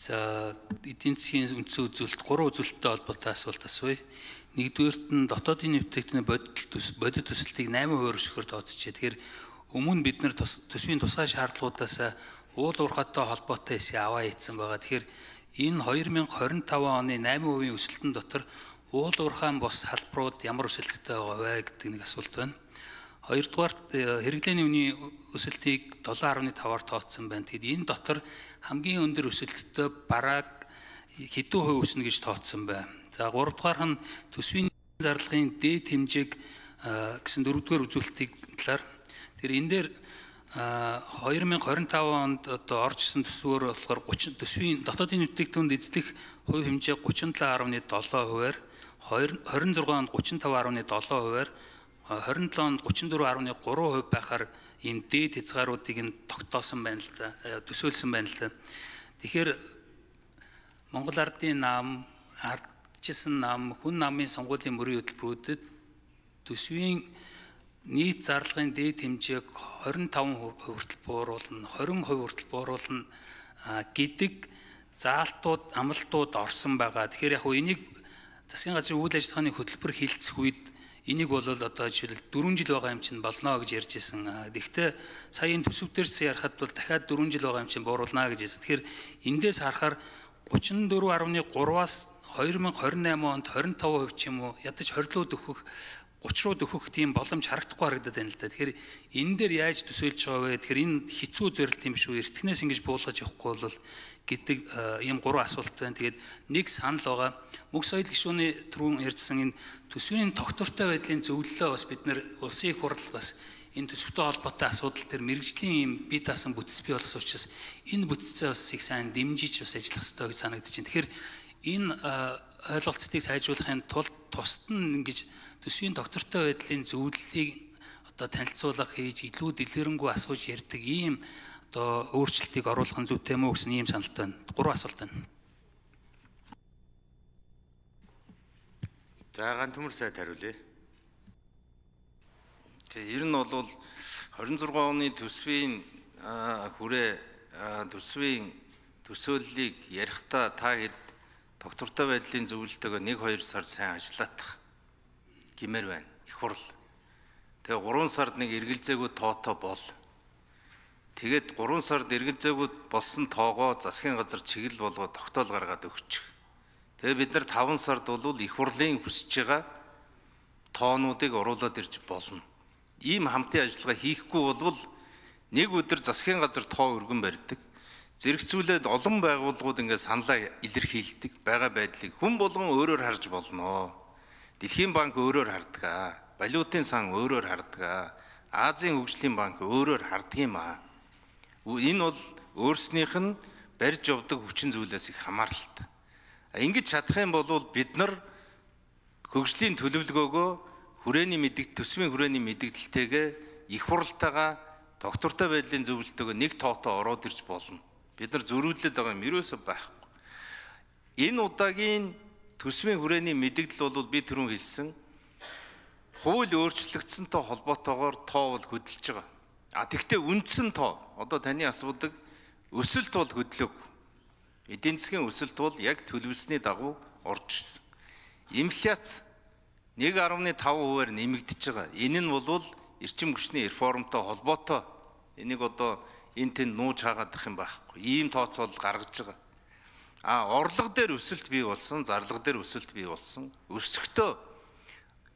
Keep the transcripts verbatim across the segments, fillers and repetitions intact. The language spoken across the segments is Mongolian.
За эдийн засгийн үндсэн үзүүлэлт гурван үзүүлэлттэй холбоотой асуулт асууя. Нэгдүгээрт нь дотоодын нэвтрэгдлийн бодит төслийг найман хувиар өсгөхөөр тооцжээ. Тэгэхээр өмнө бид нар төсвийн тусгай шаардлагуудаас уул уурхайтай холбоотой эсээ аваа ийдсэн байгаа. Тэгэхээр энэ хоёр мянга хорин таван оны найман хувийн өсөлтөн дотор уул уурхайн бос салбарууд ямар өсөлттэй байгаа вэ гэдэг нэг асуулт байна. Хоёрдугаарт хэрэглээний үнийн өсөлтийг долоо гаруй таваар тооцсон байна. Тэгэд энэ дотор хамгийн өндөр өсөлттэй бараг хэдэн хувь өснө гэж тооцсон байна. За гуравдугаар нь төсвийн зарлагын дээд хэмжээг гэсэн дөрөвдүгээр үзүүлэлтийг талаар тэр энэ дээр хоёр мянга хорин таван онд одоо орж ирсэн төсвөөр болохоор гучин төсвийн дотоодын бүтээгдэхүүнд эзлэх хувь хэмжээ гучин талаа гаруй долоо хувиар, хорин зургаан онд гучин таван гаруй долоо хувиар, хорин долоо онд гучин дөрвөн гаруй гурван хувь байхаар ийм дээд хязгааруудыг нь тогтоосон байна л да, төсөөлсөн байна л да. Тэгэхээр Монгол Ардын нам, ардчилсан нам, хүн намын сонгуулийн мөрийн хөтөлбөрүүдэд төсвийн нийт зарлагын дээд хэмжээг хорин таван хувь хүртэл бууруулна, хорин хувь хүртэл бууруулна гэдэг заалтууд, амлалтууд орсон байгаа. Тэгэхээр яг энийг засгийн газрын үйл ажиллагааны хөтөлбөр хилцэх үед энийг бол одоо жишээл дөрвөн жил байгаа юм чинь болно гэж ярьж ирсэн. Гэхдээ сая энэ төсөв дээрс ярахад бол дахиад дөрвөн жил байгаа юм чинь бууруулна гэж хэлсэн. Тэгэхээр эндээс харахаар гучин дөрвөн гаруй гураваас хоёр мянга хорин найман онд хорин таван хувь ч юм уу ядаж хорилууд өгөх гучин руу өгөх тийм боломж харагдахгүй харагдаад байна л да. Тэгэхээр энэ дээр яаж төсөөлж байгаа вэ? Тэгэхээр энэ хэцүү зорилт юм шүү. Эртнээс ингэж буулгаж явахгүй бол гэдэг ийм гурван асуулт байна. Тэгээд нэг санал байгаа. Мөнх соёл гишүүний түрүүн ярьсан энэ төсвийн тогтвортой байдлын зөвлөлөө бас бид нэр улсын их хурл бас энэ төсөвтэй холбоотой асуудал төр мэрэгжлийн юм бие даасан бүтц бий болсон учраас энэ бүтцээ бас их сайн дэмжиж бас ажиллах хэрэгтэй гэж санагдаж байна. Тэгэхээр энэ ойлголцтыг сайжруулахын тулд тусад нь ингэж төсвийн тогтвортой байдлын зөвлөлийг одоо танилцуулах хийж илүү дэлгэрэнгүй асууж ярьдаг ийм одоо өөрчлөлтийг оруулах нь зүйтэй мүү гэсэн ийм саналтай байна. Гурван асуулт байна. За гаан төмөр сайд хариулъя. Тэгээ ер нь бол хорин зургаан оны төсвийн хүрээ төсвийн төсөөллийг ярихдаа та хэд тогтвортой байдлын зөвлөлтөөгөө нэг хоёр сар сайн ажиллаах гэмээр байна. Их хурл. Тэгээ гурван сард нэг эргэлзээгүй тоотоо бол. Тэгээд гурван сард эргэлзээгүй болсон тоогоо засгийн газар чиглэл болгоод тогтоол гаргаад өгчих. Тэгээ бид нар таван сард бол их хурлын хүсэж байгаа тоонуудыг оруулаад ирж болно. Ийм хамтын ажиллагаа хийхгүй бол нэг өдөр засгийн газар тоо өргөн барьдаг. Зэрэгцүүлээд олон байгууллагууд ингээд саналаа илэрхийлдэг байгаа байдлыг хүн болгон өөрөөр харж болно. Дэлхийн банк өөрөөр хардаг. Валютын сан өөрөөр хардаг. Азийн хөгжлийн банк өөрөөр хардаг юм аа. Энэ бол өөрснийх нь барьж явдаг хүчин зүйлээс их хамааралтай. Ингэж чадах юм бол бид нар хөгжлийн төлөвлөгөөгөө хүрээний мэддэг төсвийн хүрээний мэддэгдэлтэйгээ их хуралтайгаа тогтвортой байдлын зөвлөлтөөгөө нэг тоотоо ороод ирж болно. Бид нар зөрүүлээд байгаа юм ерөөсөө байхгүй. Энэ удаагийн төсвийн хүрээний мэддэгдэл бол би түрүүн хэлсэн хууль өөрчлөгдсөнтэй холбоотойгоор тоо бол хөдөлж байгаа. А тэгвэл үндсэн тоо одоо таны асуудаг өсөлт бол хөдлөөгүй. Эдийн засгийн өсөлт бол яг төлөвлөсний дагуу орж ирсэн. Инфляц нэг гаруй таван хувиар нэмэгдэж байгаа. Энэ нь бол эрчим хүчний реформтой холбоотой. Энийг одоо энэ тэнд нууж хаагаадах юм байхгүй. Ийм тооцоол гаргаж байгаа. А орлого дээр өсөлт бий болсон, зарлага дээр өсөлт бий болсон. Өсөктөө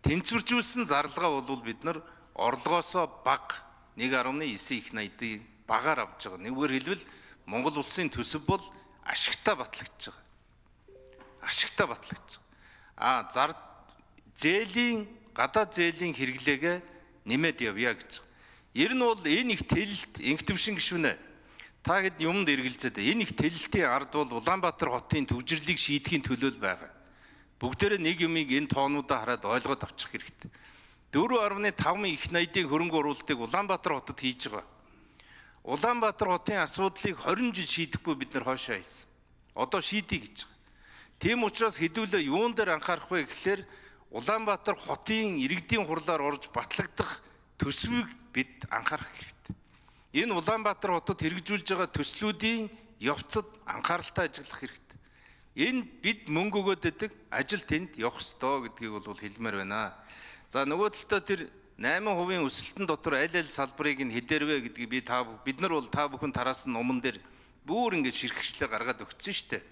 тэнцвэржүүлсэн зарлагаа бол бид нар орлогоосоо бага нэг гаруй девять их найдыг багаар авч байгаа. Нэггээр хэлбэл Монгол улсын төсөв бол ашигтай батлагдж байгаа. Ашигтай батлагдж байгаа. А зар зээлийн гадаад зээлийн хэрэглээгээ нэмээд явъя гэж. Ер нь бол энэ их тэлэлт инхтвшин гишүүнэ. Та хэд юмд эргэлзээд энэ их тэлэлтийн ард бол Улаанбаатар хотын төвжирлийг шийдэхийн төлөөл байгаа. Бүгдээрээ нэг юмыг энэ тоонуудаа хараад ойлгоод авчих хэрэгтэй. дөрвөн гаруй таван их найдын хөрөнгө оруулалтыг Улаанбаатар хотод хийж байгаа. Улаанбаатар хотын асуудлыг хорин жил шийдэхгүй бид нар хоошоо хийсэн. Одоо шийдье гэж байгаа. Тийм учраас хэдүүлээ юун дээр анхаарах вэ гэхлээр Улаанбаатар хотын иргэдийн хурлаар орж батлагдах төсвийг бид анхаарах хэрэгтэй. Энэ Улаанбаатар хотод хэрэгжүүлж байгаа төслүүдийн явцад анхааралтай ажиллах хэрэгтэй. Энэ бид мөнгө өгөөд өгдөг ажил тэнд явах ёстой гэдгийг бол хэлмээр байна. За нөгөө талдаа тэр найман хувийн өсөлтөн дотор аль аль салбарыг нь хэдэрвэ гэдгийг би та бид нар бол та бүхэн тараасан номон дээр бүр ингэж ширхэгчлээ гаргаад өгсөн шүү дээ.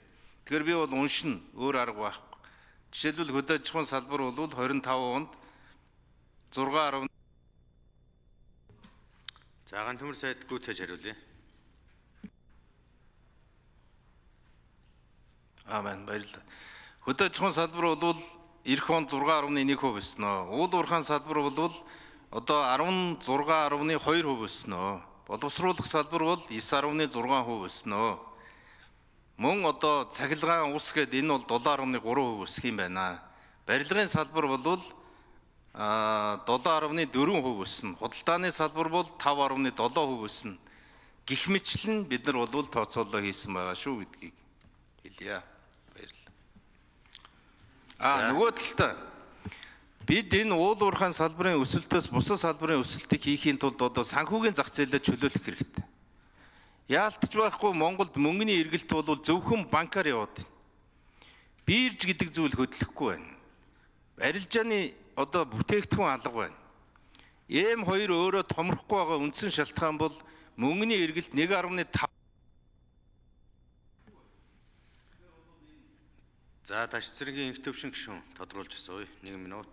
Тэгэхээр би бол уншин өөр арга байхгүй. Жишээлбэл хөдөө аж ахуйн салбар бол двадцать и пять онд зургаан арав. Заагаан төмөр сайд гүйцээж хариулъя. Амен баярлалаа. Хөдөө аж ахуйн салбар бол эх онд зургаан арвны нэг хувь өснө. Уул уурхайн салбар бол одоо дөрвөн арвны хоёр хувь өснө. Боловсруулах салбар бол девять арвны зургаан хувь өснө. Мөн одоо цахилгаан ус гэдэг энэ бол seven арвны гурван хувь өсөх юм байна. Барилгын салбар бол seven арвны дөрвөн хувь өснө. Худалдааны салбар бол five арвны seven хувь өснө. Гэх мэтлэн бид нар бол тооцоолоо хийсэн байгаа шүү гэдгийг хэлье. Баярлалаа. А нөгөө талдаа бид энэ уул уурхайн салбарын өсөлтөөс бусад салбарын өсөлтийг хийхийн тулд одоо санхүүгийн зах зээлээ чөлөөлөх хэрэгтэй. Яалтч байхгүй Монголд мөнгөний эргэлт бол зөвхөн банкар яваад байна. Бирж гэдэг зүйл хөдлөхгүй байна. Арилжааны одоо бүтээгдэхүүн алга байна. эм two өөрөө томрохгүй байгаа үндсэн шалтгаан бол мөнгөний эргэлт one point five. За тааш цэргийн инх төвшин гишүүн тодруулж асууя. Нэг минут.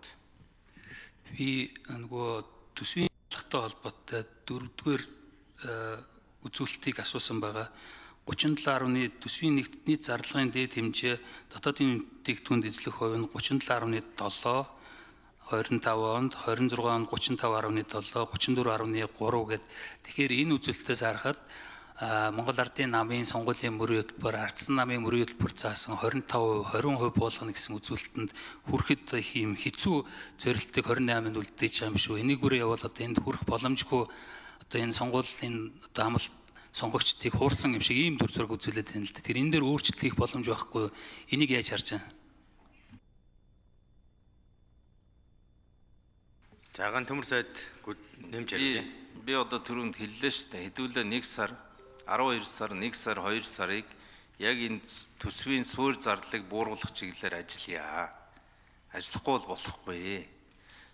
Би нөгөө төсвийн алхтай холбоотой дөрөвдүгээр үзүүлэлтийг асуусан байгаа. thirty-seven арвны төсвийн нийт зарлагын дээд хэмжээ дотоодын бүтээгдэхүүнд эзлэх хувь нь thirty-seven арвны seven, twenty-five онд, twenty-six онд thirty-five арвны seven, thirty-four арвны three гэд. Тэгэхээр энэ үзүүлэлтээс харахад Монгол Ардын намын сонгуулийн мөрийн хөтөлбөр, ардсан намын мөрийн хөтөлбөр заасан twenty-five, twenty percent болгоно гэсэн үзүүлэлтэнд хүрэхэд ийм хэцүү зорилтыг twenty-eight-нд үлдээж байгаа юм шүү. Энийгээрээ явал одоо энд хүрэх боломжгүй одоо энэ сонгуулийн одоо амлалт сонгогчдыг хуурсан юм шиг ийм төр зураг үзүүлээд байна л да. Тэр энэ дээр өөрчлөлт хийх боломж байхгүй. Энийг яаж харж байна? Заагаан төмөр сайд нэмж ярьъя. Би одоо түрүүнд хэллээ шүү дээ. Хэдүүлээ нэг сар, twelve сар, one сар, two сарыг яг энэ төсвийн суурь зардлыг бууруулах чиглэлээр ажиллая. Ажиллахгүй бол болохгүй.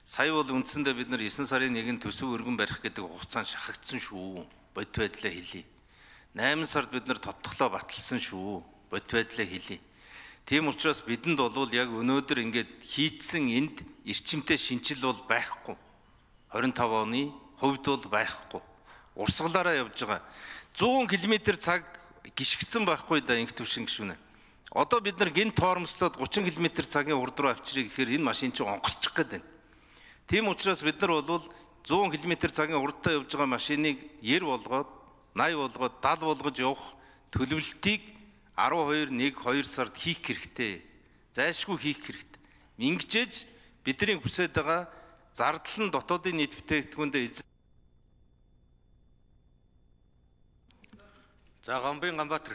Сая бол үндсэндээ бид нар nine сарын нэгэн төсөв өргөн барих гэдэг хугацаанд шахагдсан шүү. Бодит байдлаа хэлье. eight сард бид нар тодтоглоо баталсан шүү. Бодит байдлаа хэлье. Тийм учраас бидэнд бол яг өнөөдөр ингээд хийцэн энд эрчимтэй шинжил бол байхгүй. twenty-five оны хувьд бол байхгүй. Урсгалаараа явж байгаа. one hundred км цаг гიშгцэн байхгүй да инх төвшин гişүнэ. Одоо бид нар гин тоормслоод thirty км цагийн урд руу авчирыг гэхээр энэ машин чинь онгорчих гээд байна. Тийм учраас бид нар бол one hundred км цагийн урдтай явж байгаа машиныг ninety болгоод, eighty болгоод, seventy болгож явах төлөвлөлтийг twelve, one, two сард хийх хэрэгтэй. Зайлшгүй хийх хэрэгтэй. Ингэжээж бидний хүсэж байгаа зардал нь дотоодын нийт бүтээгдэхүүндээ За Гомбын Ганбаатар